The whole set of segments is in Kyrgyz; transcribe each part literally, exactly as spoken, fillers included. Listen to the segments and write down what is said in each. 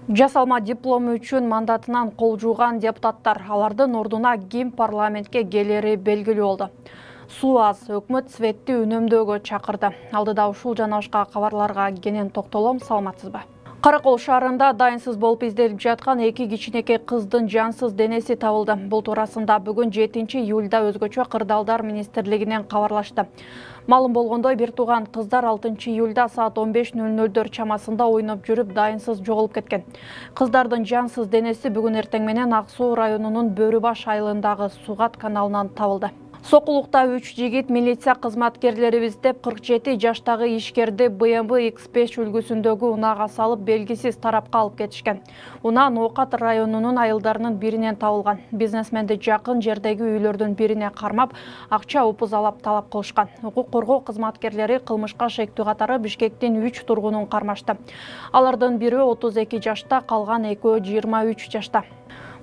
Жасалма диплому үчүн мандатынан кол жууган депутаттар алардын ордуна ким парламентке келери белгилүү болду. Суу аз, өкмөт светти үнөмдөөгө чакырды. Алдыда ушул жана башка кабарларга кенен токтолом, саламатсызбы? Каракол шаарында дайынсыз болуп изделип жаткан эки кичинекей кыздын жансыз денеси табылды. Бул туурасында бүгүн жетинчи июлда өзгөчө кырдаалдар министрлигинен кабарлашты. Малым болгондой, бир тууган кыздар алтынчы июлда саат он беш нөл нөлдөр чамасында ойноп жүрүп дайынсыз жоголуп кеткен. Кыздардын жансыз денеси бүгүн эртең менен Ак Суу районунун Бөрүбаш айылындагы Сугат каналынан табылды. Сокулукта үч жигит милиция кызматкерлерибиз деп кырк жети жаштагы ишкерди бэ эм вэ икс беш үлгүсүндөгү унаага салып белгисиз тарапка алып кетишкен. Унаа Ноокат районунун айылдарынын биринен табылган. Бизнесменди жакын жердеги үйлөрдүн бирине кармап, акча упузалап талап кылышкан. Укук коргоо кызматкерлери кылмышка шектүү катары Бишкектин үч тургунун кармашты. Алардын бири отуз эки жашта, калган экөө жыйырма үч жашта.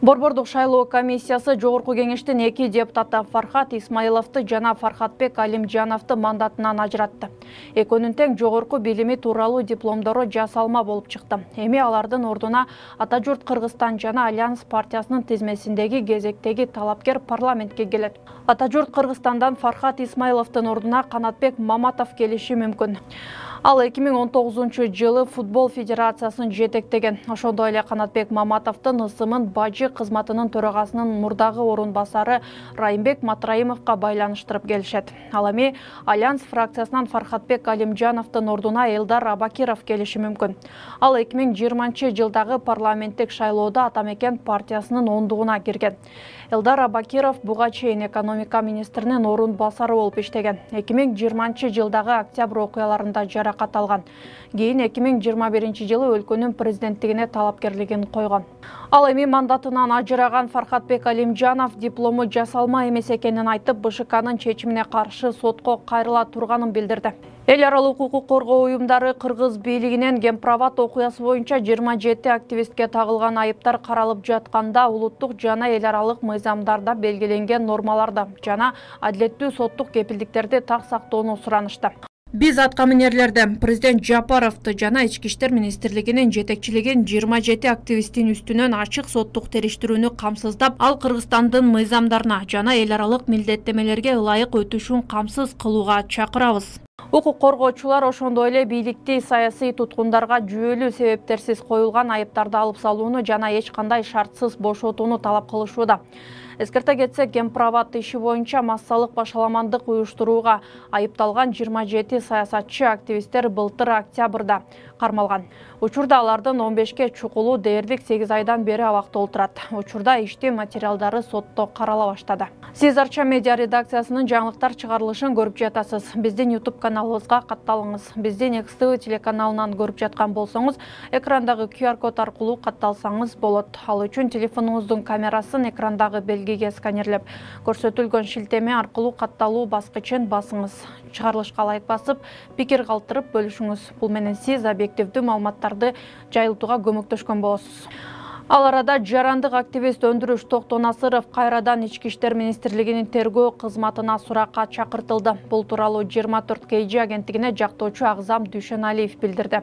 Борбордук шайлоо комиссиясы жогорку кеңештин эки депутаты Фархат Исмаиловду жана Фархатбек Алимжановду мандатынан ажыратты. Экөөнүн тең жогорку билими тууралуу дипломдору жасалма болуп чыкты. Эми алардын ордуна Ата журт Кыргызстан жана Альянс партиясынын тизмесиндеги кезектеги талапкер парламентке келет. Ата журт Кыргызстандан Фархат Исмаиловдун ордуна Канатбек Маматов келиши мүмкүн. Ал эки миң он тогузунчу жылы футбол федерациясын жетектеген. Ошондой эле Канатбек Маматовдун ысымын бажы кызматынын төрагасынын мурдагы орун басары Райымбек Матраимовго байланыштырып келишет. Ал эми Альянс фракциясынан Фархатбек Алимжановдун ордуна Элдар Абакиров келиши мүмкүн. Ал эки миң жыйырманчы жылдагы парламенттик шайлоодо Атамекен партиясынын ондугуна кирген. Элдар Абакиров буга чейин экономика министринин орун басары болуп иштеген. эки миң жыйырманчы жылдагы октябрь окуяларында жаракат алган. Кийин эки миң жыйырма биринчи жылы өлкөнүн президенттигине талапкерлигин койгон. Ал эми мандатынан ажыраган Фархатбек Алимжанов диплому жасалма эмес экенин айтып, бэ шэ канын чечимине каршы сотко кайрыла турганын билдирди. Эл аралык укук коргоо уюмдары Кыргыз бийлигинен Гемпроват окуясы боюнча жыйырма жети активистке тагылган айыптар каралып жатканда улуттук жана эл аралык мыйзамдарда белгиленген нормаларды жана адилеттүү соттук кепилдиктерди так сактоону суранышты. Биз аткаминерлерден президент Жапаровду жана Ички иштер министрлигинин жетекчилигин жыйырма жети активисттин үстүнөн ачык соттук териштирүүнү камсыздап, ал Кыргызстандын мыйзамдарына жана эл аралык милдеттемелерге ылайык өтүшүн камсыз кылууга чакырабыз. Укук коргоочулар ошондой эле бийликти саясий туткундарга жүйөлүү себептерсиз коюлган айыптарды алып салууну жана эч кандай шартсыз бошотууну талап кылышууда. Эскерте кетсек, Гемпроват иши боюнча массалык башаламандык уюштурууга айыпталган жыйырма жети саясатчы активисттер былтыр октябрда кармалган. Учурда алардын он бешке чукулу дээрлик сегиз айдан бери абакта отурат. Учурда иштин материалдары сотто карала баштады. Сиз Арча медиа редакциясынын жаңылыктар чыгарылышын көрүп жатасыз. Биздин YouTube каналыбызга катталыңыз. Биздин Экс Тэ Вэ телеканалынан көрүп жаткан болсоңуз, экрандагы Q R код аркылуу катталсаңыз болот. Ал үчүн телефонуңуздун камерасын экрандагы белгиге сканерлеп, көрсөтүлгөн шилтеме аркылуу катталуу баскычын басыңыз. Чыгарылышка лайк басып, пикир калтырып бөлүшүңүз. Бул менен сиз объективдүү маалыматтарды жайылтууга көмөктөшкөн болосуз. Ал арада жарандык активист Өндүрүш Токтонасыров кайрадан Ички иштер министрлигинин тергөө кызматына суракка чакыртылды. Бул тууралуу жыйырма төрт кей жи агенттигине жактоочу Агзам Дүйшөналиев билдирди.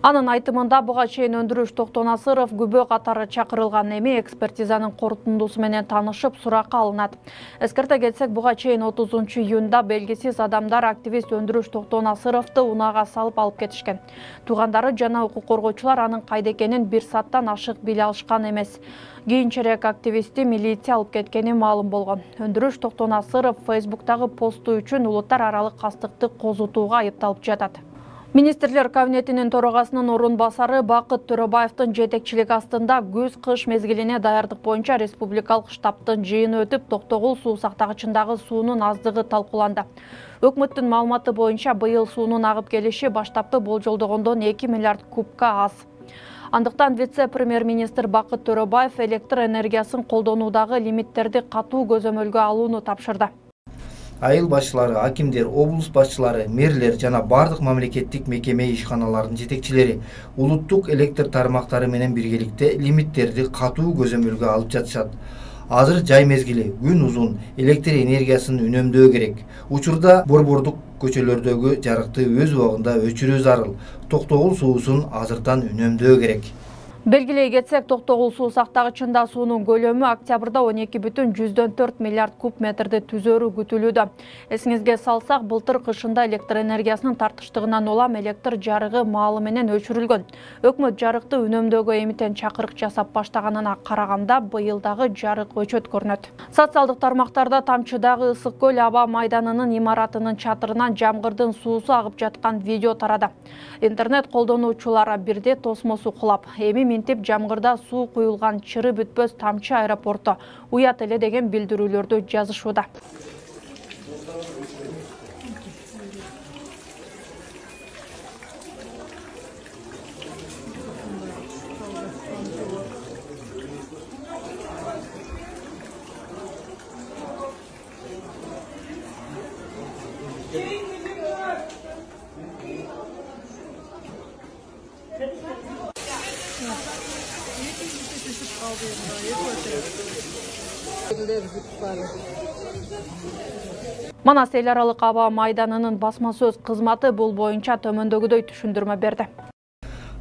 Анын айтымында буга чейин Өндүрүш Токтонасыров күбө катары чакырылган, эми экспертизанын корутундусу менен таанышып суракка алынат. Эскерте кетсек, буга чейин отузунчу июнда белгисиз адамдар активист Өндүрүш Токтонасыровду унаага салып алып кетишкен. Туугандары жана укук коргоочулар анын кайда экенин бир сааттан ашык биле алышкан эмес. Кийинчерээк активистти милиция алып кеткени маалым болгон. Өндүрүш Токтонасыров Фейсбуктагы посту үчүн улуттар аралык кастыкты козутууга айыпталып жатат. Министрлер кабинетинин төрагасынын орун басары Бакыт Төрөбаевдин жетекчилиги астында күз-кыш мезгилине даярдык боюнча республикалык штабтын жыйыны өтүп, Токтогул суу сактагычындагы суунун аздыгы талкууланды. Өкмөттүн маалыматы боюнча быйыл суунун агып келиши баштапкы болжолдогондон эки миллиард кубка аз. Андыктан вице-премьер-министр Бакыт Төрөбаев электр энергиясын колдонуудагы лимиттерди катуу көзөмөлгө алууну тапшырды. Айыл башчылары, акимдер, облус башчылары, мэрлер жана бардык мамлекеттик мекеме ишканаларынын жетекчилери улуттук электр тармактары менен биргеликте лимиттерди катуу көзөмөлгө алып жатышат. Азыр жай мезгили, күн узун, электр энергиясын үнөмдөө керек. Учурда борбордук көчөлөрдөгү жарыкты өз убагында өчүрүү зарыл. Токтогул суусун азыртан үнөмдөө керек. Белгилей кетсек, Токтогул суу сактагычында суунун көлөмү октябрда он эки бүтүн жүздөн төрт миллиард куб метрди түзөрү күтүлүүдө. Эсиңизге салсак, былтыр кышында электр энергиясынын тартыштыгынан улам электр жарыгы маалы менен өчүрүлгөн. Өкмөт жарыкты үнөмдөөгө эмитен чакырык жасап баштаганына караганда быйыл дагы жарык өчөт көрүнөт. Социалдык тармактарда Тамчыдагы Ысык көл аба майданынын имаратынын чатырынан жамгырдын суусу агып жаткан видео тарады. Интернет колдонуучулар бирде тосмосу кулап, эми минтип жамгырда суу куюлган чыры бүтпөс Тамчы аэропорту уят эле деген билдирүүлөрдү жазышууда. Манас эл аралык аба майданынын басма сөз кызматы бул боюнча төмөндөгүдөй түшүндүрмө берди.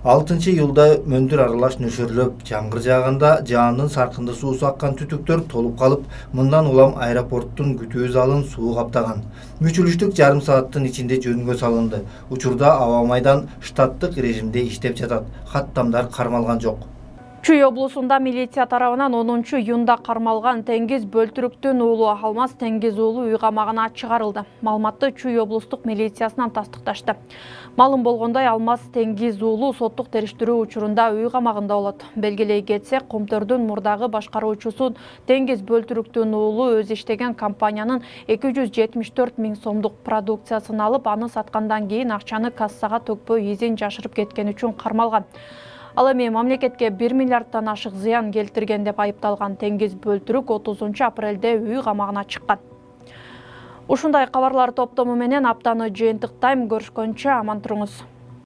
алтынчы июлда мөндүр аралаш нөшөрлөп, жамгыр жааганда жаандын саркынды суусу аккан түтүктөр толуп калып, мындан улам аэропорттун күтүү залын суу каптаган. Мүчүлүштүк жарым сааттын ичинде жөнгө салынды. Учурда аба майдан штаттык режимде иштеп жатат. Каттамдар кармалган жок. Чүй облусунда милиция тарабынан онунчу июнда кармалган Теңиз Бөлтүрүктүн уулу Алмаз Теңиз уулу үй камагына чыгарылды. Маалыматты Чүй облустук милициясынан тастыкташты. Маалым болгондой, Алмаз Теңиз уулу соттук териштирүү учурунда үй камагында болот. Белгилей кетсек, Комтөрдүн мурдагы башкаруучусун Теңиз Бөлтүрүктүн уулу өз иштеген компаниянын эки жүз жетимиш төрт миң сомдук продукциясын алып, аны саткандан кийин акчаны кассага төкпөй изин жашырып кеткен үчүн кармалган. Ал эми мамлекетке бир миллиарддан ашык зыян келтирген деп айыпталган Теңиз Бөлтүрүк отузунчу апрелде үй камагына чыккан. Ушундай кабарлар топтому менен аптаны жыйынтыктайм. Көрүшкөнчө аман туруңуз.